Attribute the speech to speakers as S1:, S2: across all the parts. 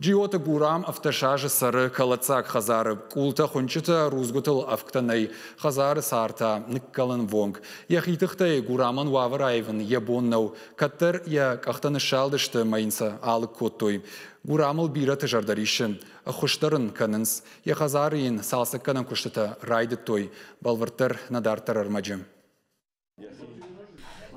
S1: Джиоты Гурам 17 азы цӕры кӕлӕддзаг хӕдзары. Къултӕ хуынчъытӕ, рудзгуытыл ӕвгтӕ нӕй. Хӕдзары цар та ныккӕлӕнвонг. Йӕхи тыхтӕй Гурамӕн уавӕр аивын йӕ бон нӕу. Кӕддӕр йӕ къӕхтӕ ныссалдысты ӕмӕ йын сӕ алыг кодтой. Гурамыл бирӕты зӕрдӕ риссы. Ӕххуыс дӕр ын кӕнынц. Йӕ хӕдзары йын цалцӕггӕнӕн куыстытӕ райдыдтой. Бӕлвырддӕр нӕ дарддӕр ӕрмӕджы.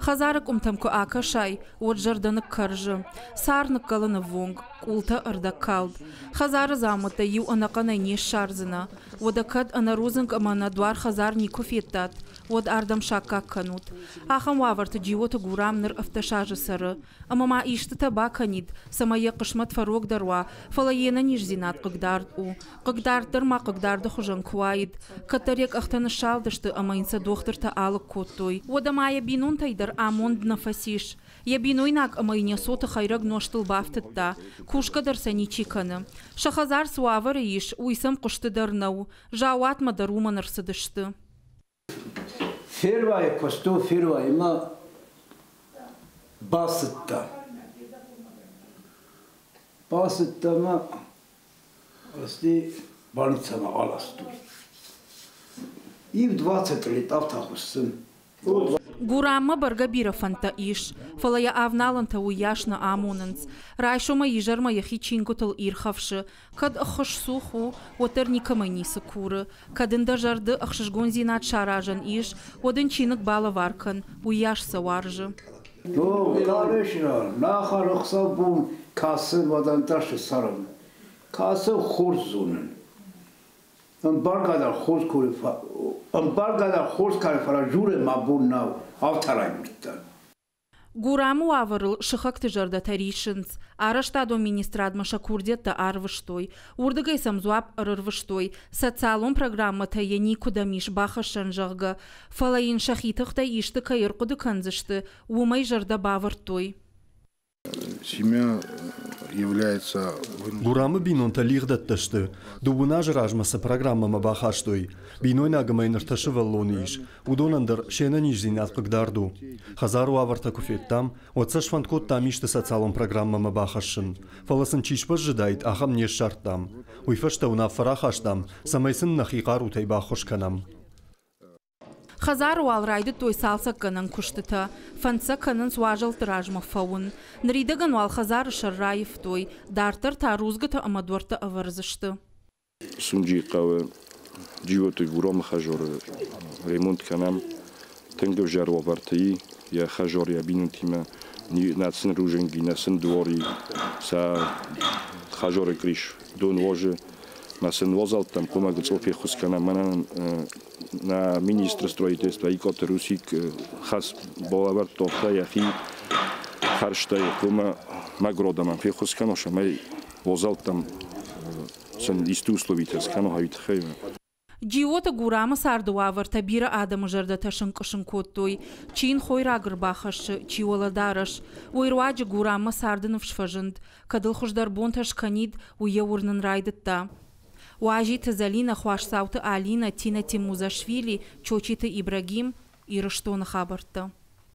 S2: Хӕдзары къуымтӕм куы акӕсай, уӕд зӕрдӕ ныккӕрзы. Цар ныккӕлыны ввонг, къултӕ ӕрдӕгкалд. Хӕдзары дзаумӕттӕ иу ӕнӕхъӕнӕй не ссардзынӕ. Уӕдӕ кӕд ӕнӕ рудзынг ӕмӕ ӕнӕ дуар хӕдзар никуы федтат, уӕд ардӕм саккаг кӕнут. Ахӕм уавӕрты Джиоты Гурам ныр 17 азы цӕры. Ӕмӕ ма истытӕ бакӕнид, цӕмӕй йӕ хъысмӕт фӕрогдӕр уа, фӕлӕ йе нӕниздзинад хъыгдард у. Хъыгдард дӕр ма хъыгдарды хуызӕн куы уаид. Кӕддӕр йӕ къӕхтӕ ныссалдысты ӕмӕ йын сӕ дохтыртӕ алыг кодтой. Уӕдӕ ма йӕ бинонтӕй дӕр амонд нӕ фӕцис. Йӕ бинойнаг ӕмӕ йын йӕ цоты хӕйрӕг нозтыл бафтыдта. Кусгӕ дӕр сӕ ничи кӕны. Сӕ хӕдзар цы уавӕры ис, уый сӕм хъуысты дӕр нӕу. Заууатмӕ дӕр уымӕн ӕрцыдысты.
S3: Фервайы куыстон фервайымӕ бацыдтӕн. Бацыдтӕн ӕмӕ Ӕсти больницӕмӕ аластой. Иу 20 лет афтӕ хуыссын.
S2: Гураммӕ бӕргӕ бирӕ фӕндтӕ ис, фӕлӕ йӕ авналӕнтӕ уыйас нӕ амонынц. Райсомӕй изӕрмӕ йӕхи чингуытыл ирхӕфсы. Кӕд ӕххуыс цух у, уӕддӕр никӕмӕй ницы куры. Кӕд ын дӕ зӕрды ӕхсызгондзинад саразӕн ис, уӕд ын чиныг балӕвар кӕн, уыйас сӕ уарзы.
S3: Конечно, нахар ӕхсӕв-бон кӕсы ваданташы цӕрын. Кӕсы хорз зонын. Ӕмбаргӕ дӕр хорз куры, ӕмбаргӕ дӕр хорз кӕны, фӕлӕ журы мӕ бон нӕу, афтӕ райгуырдтӕн.
S2: Гурамы уавӕрыл сыхӕгты зӕрдӕтӕ риссынц. Арӕзтадон министрадмӕ сӕ курдиӕттӕ арвыстой. Уырдыгӕй сӕм дзуапп ӕрырвыстой, социалон программӕтӕ йӕ никуыдӕм ис бахӕссӕн, зӕгъгӕ. Фӕлӕ йын сӕхи тыхтӕй исты кӕй ӕрхъуыды кӕндзысты, уымӕй зӕрдӕ бавӕрдтой.
S4: Семья является...
S5: Гурамы бинонтӕ лигъдӕттӕ сты. Дыууын азы размӕ цы программӕмӕ бахастой, бинойнаг ӕмӕ йын ӕртӕ сывӕллоны ис, уыдонӕн дӕр се нӕниздзинад хъыгдард у. Хӕдзары уавӕртӕ куы федтам, уӕд сӕ сфӕнд кодтам исты социалон программӕмӕ бахӕссын. Фӕлӕ сын чи сбӕззыдаид, ахӕм не ссардтам. Уый фӕстӕ уынаффӕ рахастам, цӕмӕй сын нӕхи хъарутӕй баххуыс кӕнӕм.
S2: Хӕдзары уал райдыдтой цалцӕггӕнӕн куыстытӕ. Фӕнд сӕ кӕнынц уазӕлтты размӕ фӕуын. Ныридӕгӕн уал хӕдзары сӕр раивтой, дарддӕр та рудзгуытӕ ӕмӕ дуӕрттӕ ӕвӕрдзысты.
S4: Сунджи хъӕуы Джиоты Гуромы хӕзоры ремонт кӕнӕм. Тынг ӕвзӕр уавӕрты и, йӕ хӕзор йӕ бинонтимӕ нӕ сын рузынги, нӕ сын дуори, сӕ хӕзоры кърис дон уозы. Мӕ сын уазӕлттӕм хъуамӕ гыцъыл феххуыс кӕнӕм. Мӕнӕн нӕ министр строительства Икъоты Русик хӕс балӕвӕрдта йӕхи хӕрзтӕй хъуамӕ мӕгуыр адӕмӕн феххуыс кӕнон, цӕмӕй уазӕлттӕм сын исты условитӕ скӕнон, уый тыххӕй.
S2: Джиоты Гурамы царды уавӕртӕ бирӕ адӕмы зӕрдӕтӕ сынкъуысын кодтой. Чи йын хойраг ӕрбахӕссы, чи уӕлӕдарӕс. Уый руаджы Гураммӕ царды ныфс фӕзынд. Кӕд ыл хуыздӕр бонтӕ скӕнид, уый йӕ уырнын райдыдта. Уазиты Зӕлинӕ, Хуасдзауты Алинӕ, Тина Тимузашвили, Чочиты Ибрагим, Ирыстоны хабӕрттӕ.